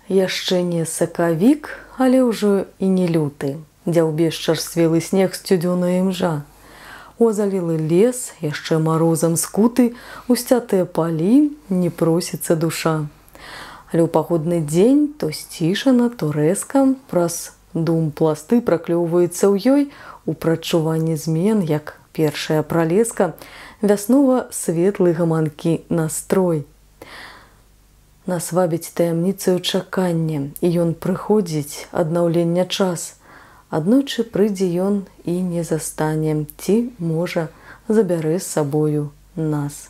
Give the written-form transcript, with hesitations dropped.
Яшчэ не сакавік, але ўжо і не люты. Дзяўбе чарствелы снег сцюдзёная імжа. Озалілы лес, яшчэ марозам скуты, усцятыя палі, не просіцца душа. Але ў паходны дзень то сцішана, то рэзка, праз дум пласты праклёўваецца ў ёй у прадчуванні змен, як першая пралеска, вяснова-светлы гаманкі настрой. Нас вабіць таямніцаю чакання, і ён прыходзіць аднаўлення час. Аднойчы прыйдзе ён і не застане, ці, можа, забярэ з сабою нас.